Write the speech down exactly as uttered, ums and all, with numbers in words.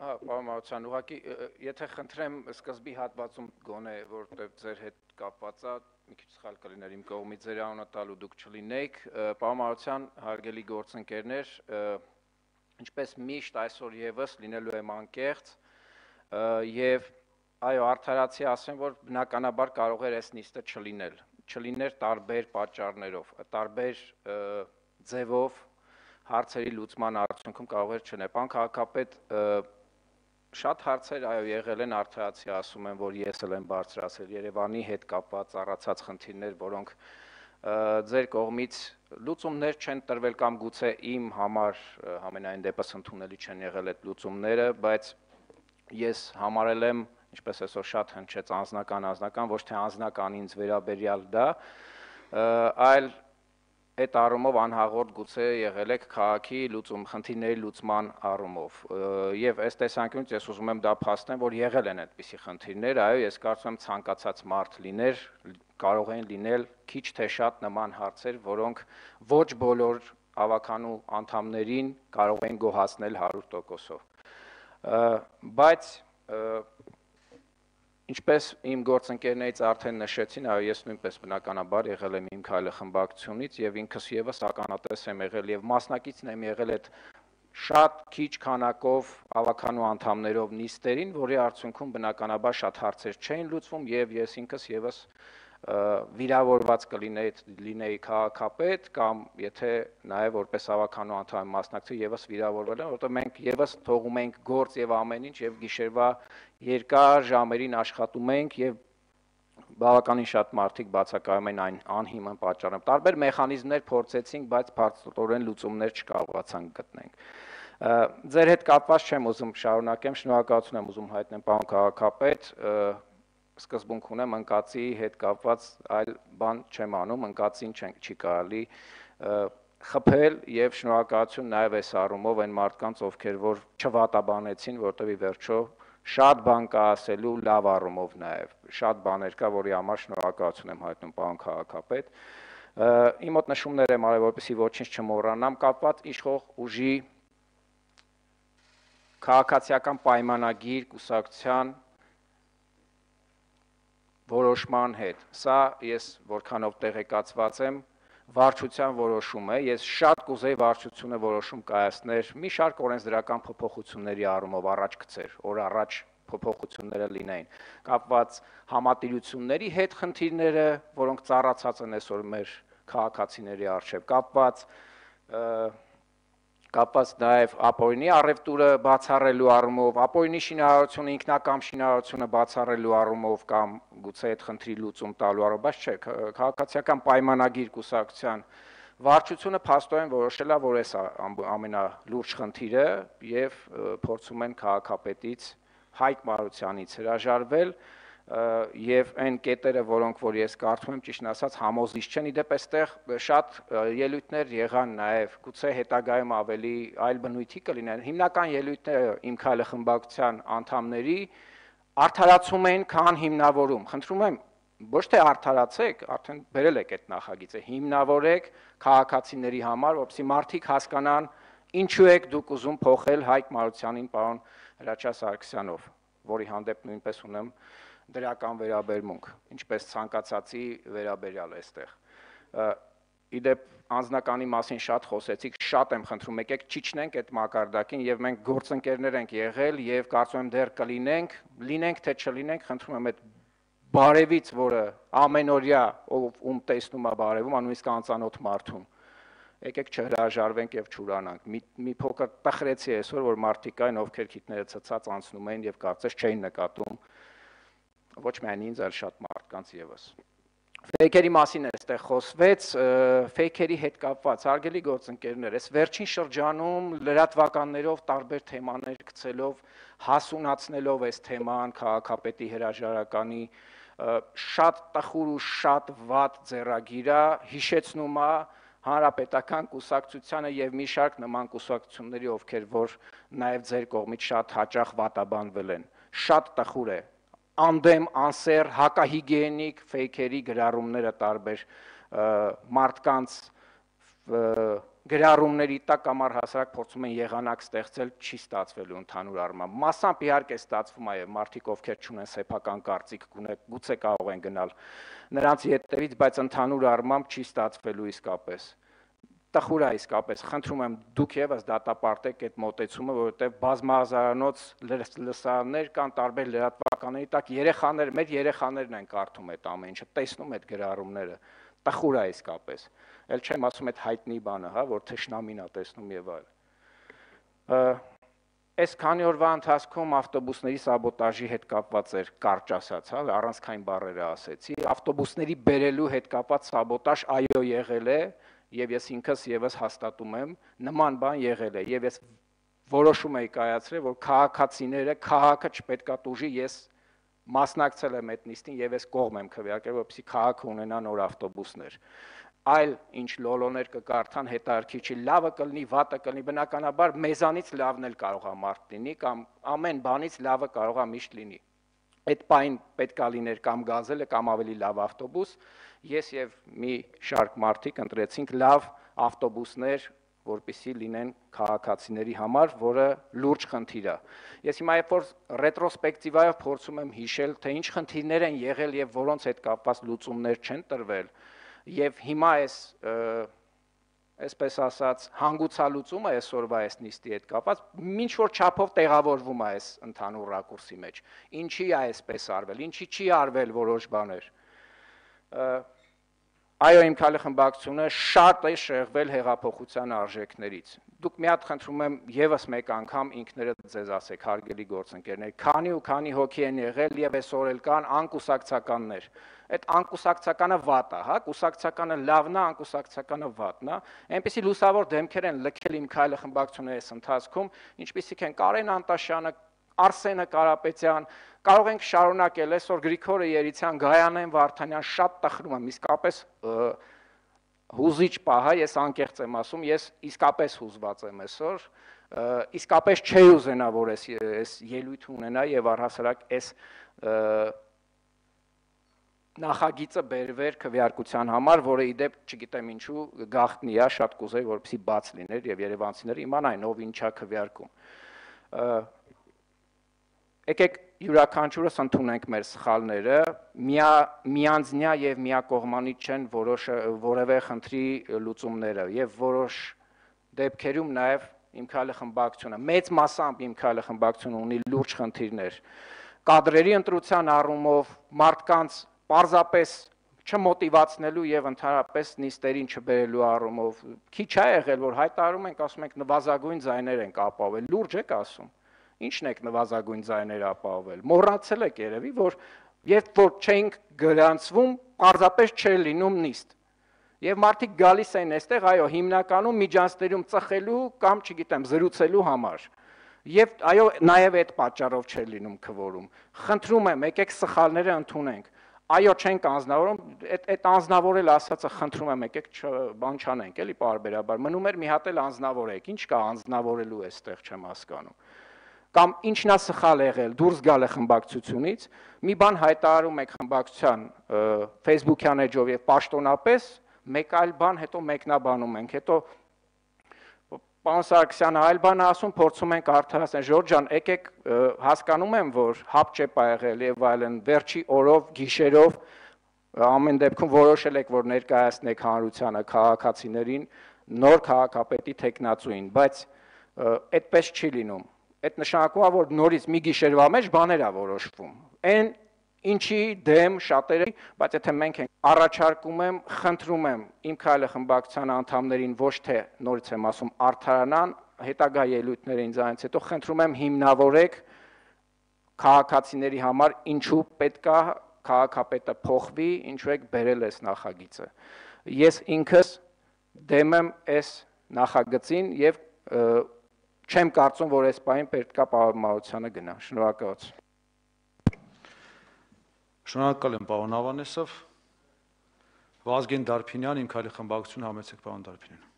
Հա, պարոն Մարությյան, ուղղակի եթե խնդրեմ սկզբի հատվածում գոնե, որտեղ ձեր հետ կապված է, մի քիչ սխալ կլիներ իմ կողմից ձեր անունը տալու դուք չլինեիք, պարոն Մարությյան, հարգելի գործընկերներ, ինչպես միշտ այսօր եւս լինելու եմ անկեղծ եւ այո, արդարացի ասեմ, որ բնականաբար կարող էր այս նիստը չլինել, չլիներ տարբեր պատճառներով, տարբեր ձևով հարցերի լուծման արդյունքում կարող էր չլինել։ Պարոն քաղաքապետ, շատ հարցեր այո եղել են, արդարացի ասում եմ, որ ես էլ եմ բարձրացրել Երևանի հետ կապված առացած խնդիրներ, որոնք ձեր կողմից լուծումներ չեն տրվել կամ գուցե իմ համար համենայն դեպս ընդունելի չեն եղել այդ լուծումները, բայց ես համարել եմ, ինչպես այսօր շատ հնչեց անձնական անձնական, ոչ թե անձնական ինձ վերաբերյալ դա, այլ այդ առումով անհաղորդ գուցե եղել եք քաղաքի լուծում խնդիրների լուծման առումով եւ այս տեսանկյունից ես ուզում եմ դա փաստեմ, որ եղել են այդպիսի խնդիրներ, այո, ես կարծում եմ ցանկացած մարդ լիներ, կարող են լինել քիչ թե շատ նման հարցեր, որոնք ոչ բոլոր ավականու անդամներին կարող են գոհացնել հարյուր տոկոսով։ Բայց ինչպես իմ գործընկերներից արդեն նշեցին, այո, ես նույնպես բնականաբար եղել եմ իմ քայլը խմբակցությունից եւ ինքս եւս ականատես եմ եղել եւ մասնակիցն եմ եղել այդ շատ քիչ քանակով ավականու անդամներով նիստերին, որի արդյունքում բնականաբար շատ հարցեր չէին լուծվում եւ ես ինքս եւս վիրավորված կլինեի լինեի քաղաքապետ կամ եթե նաեւ որպես ավականու անդամ մասնակցի եւս վիրավորվել եմ, որովհետեւ մենք եւս թողում ենք գործ եւ ամեն ինչ եւ գիշերվա երկար ժամերին աշխատում ենք եւ բավականին շատ մարդիկ բացակայում են այն անհիմն պատճառով։ Տարբեր մեխանիզմներ փորձեցինք, բայց բարձրորեն լուծումներ չկարողացանք գտնենք։ Ձեր հետ կապված չեմ ուզում շարունակեմ, շնորհակալություն եմ ուզում հայտնել պարոն քաղաքապետ, սկզբունք ունեմ ընկածի հետ կապված այլ բան չեմ անում, ընկածին չի կարելի խփել եւ շնորհակալություն նաեւ այս առումով այն մարդկանց, ովքեր որ չվատաբանեցին, որտեղ ի վերջո շատ բան կա ասելու լավ առումով նաեւ, շատ բաներ կա, որի համար շնորհակալություն եմ հայտնում պարոն քաղաքապետ։ Իմ մոտ նշումներ եմ արել, որպեսզի ոչինչ չմոռանամ, կապված իշխող ուժի քաղաքացիական պայմանագիր կուսակցության որոշման հետ։ Սա ես որքանով տեղեկացված եմ, վարչության որոշում է, ես շատ կուզեի վարչությունը որոշում կայացներ մի շարք օրենսդրական փոփոխությունների առումով առաջ գցեր, օր առաջ փոփոխությունները լինեին, կապված համատիրությունների հետ խնդիրները, որոնք ծառացած են այսօր մեր քաղաքացիների առջև, կապված կապված նաև ապօրինի առևտուրը բացառելու առումով, ապօրինի շինարարությունը, ինքնակամ շինարարությունը բացառելու առումով կամ գուցե այդ խնդրի լուծում տալու առումով, բայց չէ, քաղաքացիական պայմանագիր կուսակցության վարչությունը փաստորեն որոշել է, որ այս ամենալուրջ խնդիրը եւ փորձում են քաղաքապետից Հայկ Մարությանից հրաժարվել եւ այն կետերը, որոնք որ ես կարծում եմ ճիշտ ասած համոզիչ չեն, իդեպ այստեղ շատ ելույթներ եղան նաեւ, գուցե հետագայում ավելի այլ բնույթի կլինեն, հիմնական ելույթները իմ քայլը խմբակցության անդամների արդարացում են, քան հիմնավորում։ Խնդրում եմ ոչ թե արդարացեք, արդեն բերել եք այդ նախագիծը, հիմնավորեք քաղաքացիների համար, որպեսզի մարդիկ հասկանան ինչու եք դուք ուզում փոխել Հայկ Մարությանին պարոն Հրաչյա Սարգսյանով, որի հանդեպ նույնպես ունեմ դրական վերաբերմունք, ինչպես ցանկացածի վերաբերյալ այստեղ։ Իդեպ անձնականի մասին շատ խոսեցիք, շատ եմ խնդրում, եկեք չիջնենք այդ մակարդակին եւ մենք գործընկերներ ենք եղել եւ կարծում եմ դեռ կլինենք, լինենք թե չլինենք, խնդրում եմ այդ բարևից, որը ամենօրյա ով ում տեսնում է բարևում, նույնիսկ անծանոթ մարդուն։ Եկեք չհրաժարվենք եւ չուրանանք։ Մի, մի փոքր տխրեցի այսօր, որ մարդիկ կային, ովքեր քիթները ցցած անցնում էին եւ կարծես չէին նկատում ոչ միայն ինձ, այլ շատ մարդկանց եւս։ Ֆեյքերի մասին այստեղ խոսվեց, ֆեյքերի հետ կապված հարգելի գործընկերներ, այս վերջին շրջանում լրատվականներով տարբեր թեմաներ գցելով, հասունացնելով այս թեման քաղաքապետի հրաժարականի շատ տխուր ու շատ վատ ձեռագիր է, հիշեցնում է հանրապետական կուսակցությանը եւ մի շարք նման կուսակցությունների, ովքեր որ նաեւ ձեր կողմից շատ հաճախ վատաբանվել են։ Շատ տխուր է։ Անդեմ, անսեր, հակահիգիենիկ ֆեյքերի գրառումները տարբեր մարդկանց գրառումների տակ կամ առհասարակ փորձում են եղանակ ստեղծել, չի ստացվելու ընդհանուր առմամբ։ Մասամբ իհարկե ստացվում է, եւ մարդիկ ովքեր չունեն սեփական կարծիք, գուցե կարող են գնալ նրանց ետևից, բայց ընդհանուր առմամբ չի ստացվելու իսկապես։ Տխուր է իսկապես, խնդրում եմ դուք եւս դատապարտեք այդ մոտեցումը, որովհետեւ բազմահազարանոց լսարաններ կան տարբեր լրատվականների տակ, երեխաներ, մեր երեխաներն են կարդում այդ ամեն ինչը, տեսնում այդ գրառումները, տխուր է իսկապես։ Էլ չեմ ասում այդ հայտնի բանը, հա, որ թշնամին է տեսնում եւ այլ։ Այս քանի օրվա ընթացքում ավտոբուսների սաբոտաժի հետ կապված էր, կարճ ասած, հա, առանցքային բառերը ասեցի, ավտոբուսների բերելու հետ կապված սաբոտաժ այո եղել է, եւ ես ինքս եւս հաստատում եմ, նման բան եղել է, եւ ես որոշում եի կայացրել, որ քաղաքացիները, քաղաքը չպետքա տուժի, ես մասնակցել եմ այդ նիստին եւ ես կողմ եմ քվեարկել, որպեսզի քաղաքը ունենա նոր ավտոբուսներ։ Այլ ինչ լոլոներ կկարդան, հետարքի չի, լավը կլինի, վատը կլինի, բնականաբար մեզանից լավն էլ կարող է մարդ լինի, կամ ամեն բանից լավը կարող է միշտ լինի։ Այդ պայն պետք է լիներ կամ գազելը, կամ ավելի լավ ավտոբուս, ես եւ մի շարք մարդիկ ընտրեցինք լավ ավտոբուսներ, որպեսզի լինեն քաղաքացիների համար, որը լուրջ խնդիր է։ Ես հիմա երբ որ ռետրոսպեկտիվայով փորձում եմ հիշել, թե ինչ խնդիրներ են եղել եւ որոնց հետ կապված լուծումներ չեն տրվել, եւ հիմա այս այսպես ասած հանգուցալուծումը այսօրվա այս նիստի հետ կապված ինչ որ չափով տեղավորվում է այս ընդհանուր ռակուրսի մեջ։ Ինչի է այսպես արվել, ինչի չի արվել որոշ բաներ։ Այո, իմ քայլախմբակցությունը շատ է շեղվել հեղափոխության արժեքներից։ Դուք մի հատ խնդրում եմ եւս մեկ անգամ ինքներդ ձեզ ասեք, հարգելի գործընկերներ, քանի ու քանի հոգի են եղել եւ այսօր էլ կան անկուսակցականներ։ Այդ անկուսակցականը վատ է, հա, կուսակցականը լավն է, անկուսակցականը վատն է։ Այնպեսի լուսավոր դեմքեր են լքել իմ քայլախմբակցությունը այս ընթացքում, ինչպիսիք են Կարեն Անտաշյանը, Արսենը Կարապետյան, կարող ենք շարունակել, այսօր Գրիգորը Երիցյան, Գայանեն Վարդանյան, շատ տխրում եմ, իսկապես հուզիչ պահ է, ես անկեղծ եմ ասում, ես իսկապես հուզված եմ այսօր, իսկապես չի ուզենա, որ այս ելույթ ունենա եւ առհասարակ այս նախագիծը բերվեր քվեարկության համար, որը իդեպ չգիտեմ ինչու գաղտնի է, շատ կուզեի, որպեսզի բաց լիներ եւ երևանցիները իմանային ով ինչա քվեարկում։ Եկեք յուրաքանչյուրս ընդունենք մեր սխալները, միանձնյա եւ միակողմանի չեն որևէ խնդրի լուծումները եւ որոշ դեպքերում նաեւ իմ քայլախմբակցությունը, մեծ մասամբ իմ քայլախմբակցությունը ունի լուրջ խնդիրներ։ Կադրերի ընտրության առումով, մարդկանց պարզապես չմոտիվացնելու եւ ընդհանրապես նիստերին չբերելու առումով, քիչ է եղել, որ հայտարարում ենք, ասում ենք նվազագույն ձայներ ենք ապահովել, լուրջ եք ասում։ Ինչն եք նվազագույն ձայներ ապահովել։ Մոռացել եք երևի, որ երբ որ չենք գրանցվում, պարզապես չէր լինում նիստ։ Եվ մարդիկ գալիս են այստեղ, այո, հիմնականում միջանցներում ծխելու կամ, չգիտեմ, զրուցելու համար։ Եվ այո, նաև այդ պատճառով չէր լինում քվորում։ Խնդրում եմ, եկեք սխալները ընդունենք։ Այո, չենք անձնավորում, այդ այդ անձնավորել ասածը խնդրում եմ, եկեք բան չանենք, էլի պարբերաբար։ Մնում էր մի հատ էլ անձնավորեք։ Ինչ կա անձնավորելու այստեղ, չեմ հասկանում։ Կամ ինչն է սխալ եղել, դուրս գալ է խմբակցությունից, մի բան հայտարարում եք խմբակցության Facebook-յան էջով եւ պաշտոնապես, մեկ այլ բան հետո մեկնաբանում ենք, հետո պարոն Սարգսյանը այլ բան ասում, փորձում ենք արդարացնել, Ժորժ ջան, եկեք հասկանում եմ, որ հապճեպ է եղել եւ այլն, վերջի օրով, գիշերով ամեն դեպքում որոշել եք, որ ներկայացնեք հանրությանը, քաղաքացիներին, նոր քաղաքապետի թեկնածուին, բայց այդպես չի լինում։ Այդ նշանակում է, որ նորից մի գիշերվա մեջ բաներ է որոշվում։ Այն ինչի դեմ շատերը, բայց եթե մենք ենք առաջարկում եմ, խնդրում եմ իմ քայլախմբակցության անդամներին ոչ թե նորից եմ ասում արդարանան, հետագա ելույթները ինձանից հետո խնդրում եմ հիմնավորեք քաղաքացիների համար ինչու պետք է քաղաքապետը փոխվի, ինչու եք բերել այս նախագիծը։ Ես ինքս դեմ եմ այս նախագծին եւ չեմ կարծում, որ այս պահին պետք է պարարմարությանը գնա։ Շնորհակալություն։ Շնորհակալ եմ պարոն Ավանեսով։ Վազգեն Դարփինյան, իմ քայլախմբակցությունը համեցեք պարոն Դարփինյան։